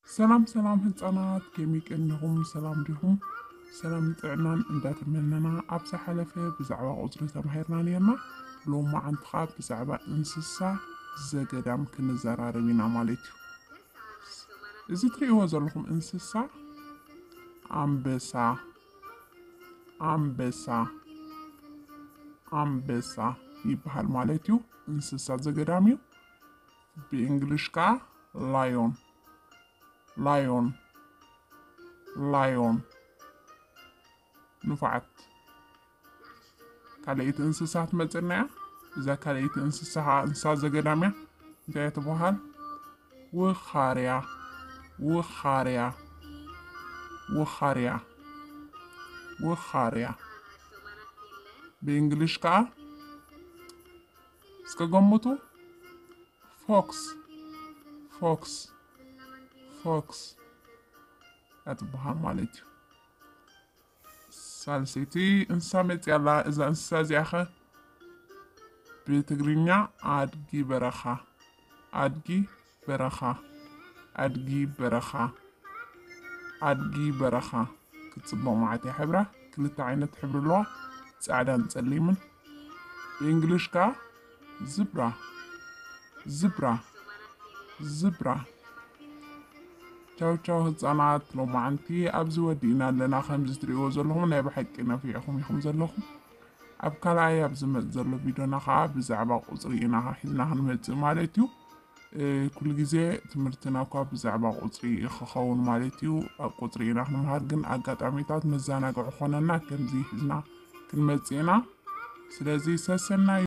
ሰላም ሰላም ህፃናት፣ ከመይ ቀኒኹም? ሰላም ዲኹም? ሰላም ጥዕናን እንዳተመነና፣ ኣብ ዝሓለፈ ብዛዕባ ቁፅሪ ተማሂርና ነርና። ሎማዓንቲ ኸዓ ብዛዕባ እንስሳ ዘገዳም ክንዘራረብ ኢና ማለት እዩ። እዚ ትርእይዎ ዘለኹም እንስሳ ኣንበሳ፣ ኣንበሳ፣ ኣንበሳ ይበሃል ማለት እዩ። እንስሳ ዘገዳም እዩ። ብእንግሊሽ ከዓ ላዮን፣ ላዮን፣ ላዮን። ንፉዓት። ካልኣይቲ እንስሳ ትመፅና እያ። እዛ ካልኣይቲ እንስሳ ከዓ እንስሳ ዘገዳም እያ። እንታይ እያ ትበሃል? ውኻርያ፣ ውኻርያ፣ ውኻርያ፣ ውኻርያ። ብእንግሊሽ ከዓ እስከ ገምቱ። ፎክስ፣ ፎክስ፣ ፎክስ እያ ትበሃል ማለት እዩ። ሳልሰይቲ እንስሳ መፅያ ኣላ። እዛ እንስሳ እዚኣ ኸ ብትግርኛ ኣድጊ በረኻ፣ ኣድጊ በረኻ፣ ኣድጊ በረኻ፣ ኣድጊ በረኻ። ክትፅብቕ መዓት እያ ሕብራ። ክልተ ዓይነት ሕብሪ ኣለዋ፣ ፃዕዳን ፀሊምን። ብእንግሊሽ ከዓ ዝብራ፣ ዝብራ፣ ዝብራ። ቻው ቻው ህፃናት፣ ሎማዓንቲ ኣብዚ ወዲእና ኣለና። ከምዚ ትርእይዎ ዘለኹም ናይ ብሓቂ ነፊዕኹም ኢኹም ዘለኹም። ኣብ ካልኣይ ኣብ ዝመጽእ ዘሎ ቪድዮና ከዓ ብዛዕባ ቁጽሪ ኢና ሒዝና ክንመጽእ ማለት እዩ። እ፣ ኩሉ ግዜ ትምህርትና እኳ ብዛዕባ ቁጽሪ እዩ ክኸውን ማለት እዩ። ኣብ ቁጽሪ ኢና ክንምሃር፣ ግን ኣጋጣሚታት መዘናግዒ ክኾነና ከምዚ ሒዝና ክንመጽእ ኢና። ስለዚ ሰሰናዩ።